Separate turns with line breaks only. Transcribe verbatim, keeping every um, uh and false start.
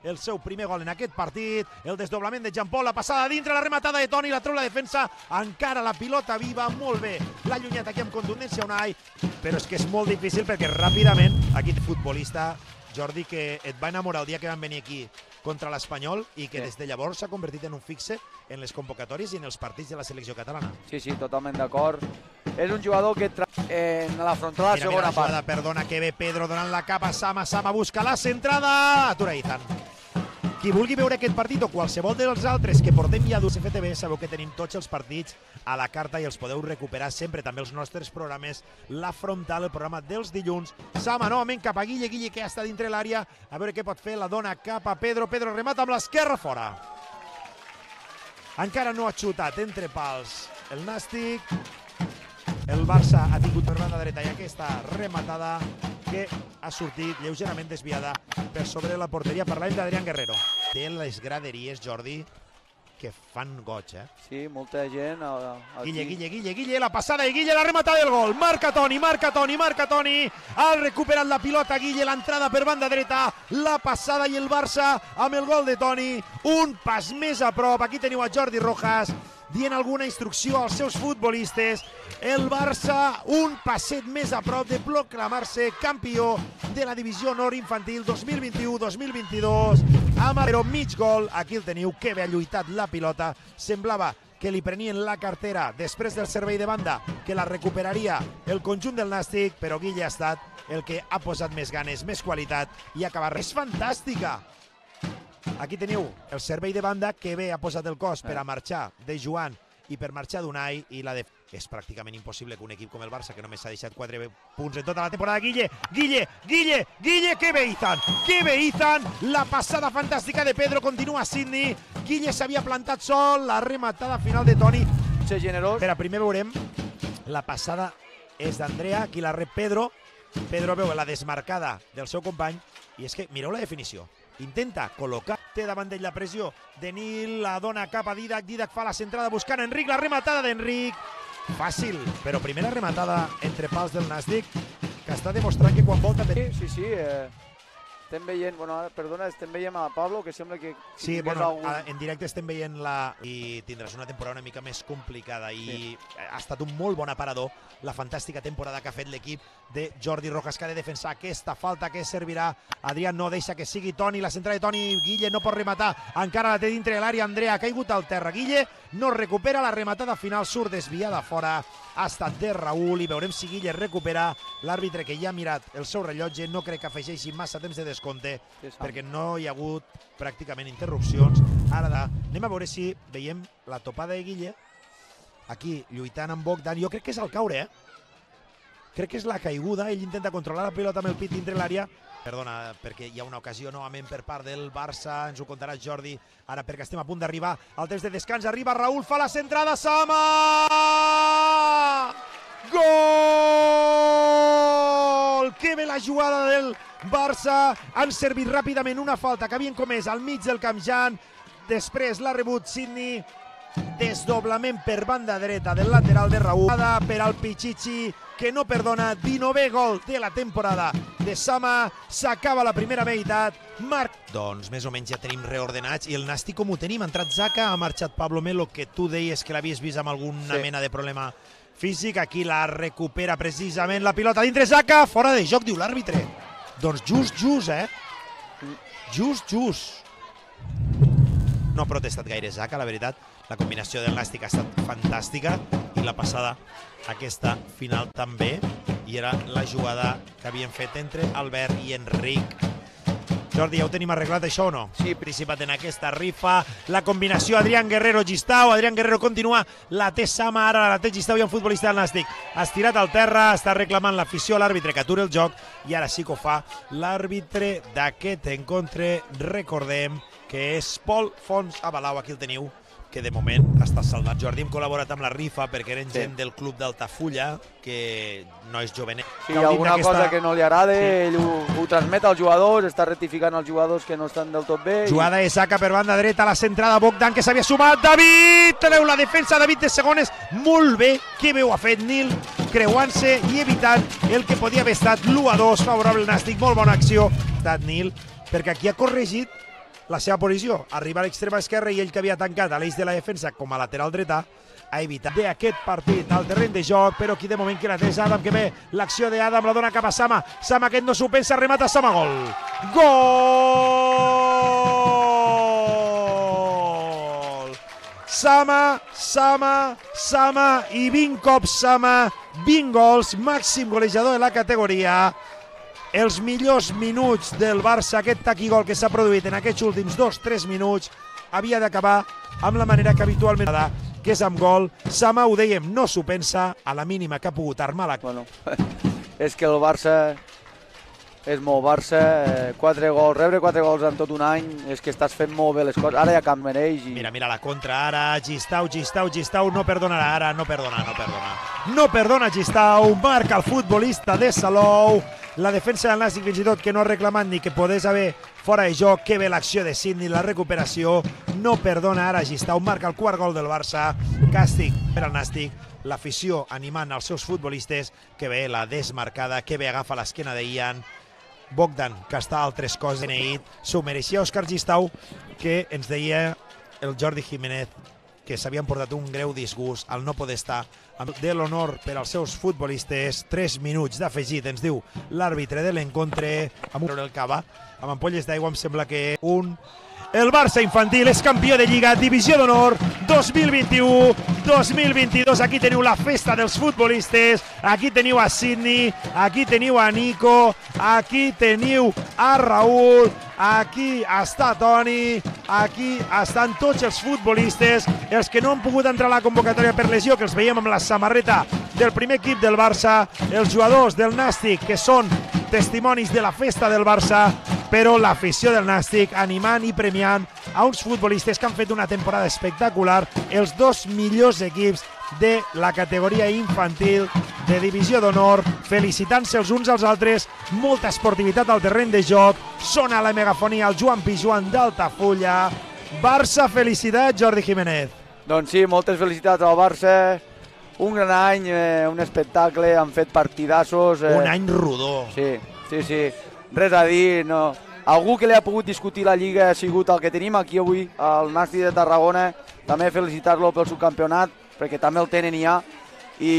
el seu primer gol en aquest partit, el desdoblament de Jean Paul, la passada dintre, la rematada de Toni, la treu la defensa, encara la pilota viva, molt bé, l'ha allunyat aquí amb contundència Unai, però és que és molt difícil perquè ràpidament, aquí futbolista, Jordi, que et va enamorar el dia que van venir aquí contra l'Espanyol i que des de llavors s'ha convertit en un fixe en les convocatòries i en els partits de la selecció catalana.
Sí, sí, totalment d'acord. És un jugador que en l'afrontar la
mira,
segona
mira la jugada,
part.
perdona, que ve Pedro donant la capa a Sama, Sama busca la centrada, atura Izan. Qui vulgui veure aquest partit o qualsevol dels altres que portem ja d'U C F T V, sabeu que tenim tots els partits a la carta i els podeu recuperar sempre, també els nostres programes, la frontal, el programa dels dilluns. Sama novament cap a Guille, Guille que ja està dintre l'àrea, a veure què pot fer, la dona cap a Pedro, Pedro remata amb l'esquerra fora. Encara no ha xutat entre pals el Nàstic, el Barça ha tingut per banda dreta i aquesta rematada que ha sortit lleugerament desviada per sobre la porteria. Parlem d'Adrián Guerrero. Té les graderies, Jordi, que fan goig, eh?
Sí, molta gent. Aquí.
Guille, Guille, Guille, Guille, la passada de Guille, la rematada del gol. Marca Toni, marca Toni, marca Toni. Ha recuperat la pilota Guille, l'entrada per banda dreta, la passada i el Barça amb el gol de Toni. Un pas més a prop. Aquí teniu a Jordi Rojas dient alguna instrucció als seus futbolistes. El Barça un passet més a prop de proclamar-se campió de la divisió honor infantil dos mil vint-i-u dos mil vint-i-dos. Però mig gol, aquí el teniu, que bé ha lluitat la pilota. Semblava que li prenien la cartera després del servei de banda, que la recuperaria el conjunt del Nàstic, però Guille ha estat el que ha posat més ganes, més qualitat i ha acabat. És fantàstica! Aquí teniu el servei de banda que bé ha posat el cos per a marxar de Joan i per marxar d'Unai i la de... És pràcticament impossible que un equip com el Barça, que només s'ha deixat quatre punts en tota la temporada, Guille, Guille, Guille, Guille, que bé Izan, que bé Izan, la passada fantàstica de Pedro, continua Sidney, Guille s'havia plantat sol, la rematada final de Toni.
Ser generós.
Espera, primer veurem, la passada és d'Andrea, aquí la rep Pedro, Pedro veu la desmarcada del seu company, i és que mireu la definició. Intenta col·locar, té davant d'ell la pressió de Nil, la dona cap a Didac, Didac fa la centrada buscant Enric, la rematada d'Enric, fàcil, però primera rematada entre pals del Nàstic, que està demostrant que quan volta...
Sí, sí, sí, eh, estem veient, bueno, perdona, estem veient a Pablo, que sembla que...
Sí, bueno, algun... en directe estem veient la... i tindràs una temporada una mica més complicada i sí. Ha estat un molt bon aparador la fantàstica temporada que ha fet l'equip de Jordi Rojas, que ha de defensar aquesta falta que servirà. Adrián no deixa que sigui Toni, la centrada de Toni, Guille no pot rematar, encara la té dintre de l'àrea, Andrea ha caigut al terra, Guille no recupera, la rematada final surt desviada fora, ha estat de Raül i veurem si Guille recupera. L'àrbitre, que ja ha mirat el seu rellotge, no crec que afegeixi massa temps de descompte perquè no hi ha hagut pràcticament interrupcions. Ara da, anem a veure si veiem la topada de Guille aquí lluitant amb Bogdan. Jo crec que és el caure, eh? Crec que és la caiguda, ell intenta controlar la pilota amb el pit dintre l'àrea. Perdona, perquè hi ha una ocasió novament per part del Barça, ens ho contarà Jordi, ara perquè estem a punt d'arribar al temps de descans, arriba Raül, fa la centrada, Sama! Gol! Que bé la jugada del Barça, han servit ràpidament una falta que havien comès al mig del camp Jan, després l'ha rebut Sidney, desdoblament per banda dreta del lateral de Raül, per al Pichichi, que no perdona, dinovè gol de la temporada de Sama, s'acaba la primera meitat, Marc... Doncs més o menys ja tenim reordenats i el Nàstic com ho tenim, ha entrat Zaka, ha marxat Pablo Melo, que tu deies que l'havies vist amb alguna sí. mena de problema físic, aquí la recupera precisament la pilota dintre Zaka, fora de joc, diu l'àrbitre. Doncs just, just, eh? Just, just. No ha protestat gaire Zaka, la veritat. La combinació del Nàstic ha estat fantàstica i la passada, aquesta final també, i era la jugada que havien fet entre Albert i Enric. Jordi, ja ho tenim arreglat això o no? Sí, participat en aquesta rifa, la combinació Adrián Guerrero-Gistau, Adrián Guerrero continua, la té Sama, ara la té Gistau i un futbolista del Nàstic. Estirat al terra, està reclamant l'afició a l'àrbitre que aturi el joc i ara sí que ho fa l'àrbitre d'aquest encontre, recordem que és Pol Fons Abalau, aquí el teniu, que de moment està salvat. Jordi, hem col·laborat amb la rifa perquè eren gent del club d'Altafulla, que no és jovenet.
Si hi ha alguna cosa que no li agrada, ell ho transmet als jugadors, està rectificant els jugadors que no estan del tot bé.
Jugada de Zaka per banda dreta, la centrada Bogdan, que s'havia sumat, David, treu la defensa, David de segones, molt bé, que bé ho ha fet Nil, creuant-se i evitant el que podia haver estat l'u a dos favorable al Nàstic, molt bona acció, ha estat Nil, perquè aquí ha corregit la seva posició, arribar a l'extrema esquerra i ell que havia tancat a l'eix de la defensa com a lateral dreta, ha evitat d'aquest partit al terreny de joc, però aquí de moment que la té és Adam, que ve l'acció d'Adam, la dona cap a Sama, Sama aquest no s'ho pensa, remata Sama, gol! Gol! Sama, Sama, Sama i vint cops Sama, vint gols, màxim golejador de la categoria. Els millors minuts del Barça, aquest taquigol que s'ha produït en aquests últims dos tres minuts, havia d'acabar amb la manera que habitualment ha que és amb gol. Sama, ho dèiem, no s'ho pensa, a la mínima que ha pogut armar la...
Bueno, és que el Barça és molt Barça, quatre gols, rebre quatre gols en tot un any, és que estàs fent molt bé les coses, ara ja cap mereix. I...
Mira, mira la contra, ara, Gistau, Gistau, Gistau, no perdonarà ara, no perdona, no perdona. No perdona Gistau, marca el futbolista de Salou, la defensa del Nàstic fins i tot que no ha reclamat ni que podés haver fora de joc, que bé l'acció de Sidney, la recuperació, no perdona ara Gistau, marca el quart gol del Barça, càstig per al Nàstic, l'afició animant els seus futbolistes, que bé la desmarcada, que bé agafa l'esquena de Ian, Bogdan, que està a altres coses beneït, s'ho mereixia Òscar Gistau, que ens deia el Jordi Jiménez que s'havien portat un greu disgust al no poder estar de l'honor per als seus futbolistes. Tres minuts d'afegit, ens diu l'àrbitre de l'encontre, amb un el cava, amb ampolles d'aigua, em sembla que un... El Barça infantil és campió de Lliga, Divisió d'Honor dos mil vint-i-u dos mil vint-i-dos. Aquí teniu la festa dels futbolistes, aquí teniu a Sidney, aquí teniu a Nico, aquí teniu a Raúl, aquí està Toni, aquí estan tots els futbolistes, els que no han pogut entrar a la convocatòria per lesió, que els veiem amb la samarreta del primer equip del Barça, els jugadors del Nàstic, que són testimonis de la festa del Barça, però l'afició del Nàstic animant i premiant a uns futbolistes que han fet una temporada espectacular, els dos millors equips de la categoria infantil de Divisió d'Honor, felicitant-se els uns als altres, molta esportivitat al terreny de joc, sona la megafonia el Joan Pijuan d'Altafulla. Barça, felicitat, Jordi Jiménez.
Doncs sí, moltes felicitats al Barça, un gran any, eh, un espectacle, han fet partidassos. Eh.
Un any rodó.
Sí, sí, sí. Res a dir, no. Algú que li ha pogut discutir la Lliga ha sigut el que tenim aquí avui, el Nàstic de Tarragona. També felicitar-lo pel subcampionat, perquè també el tenen ja. I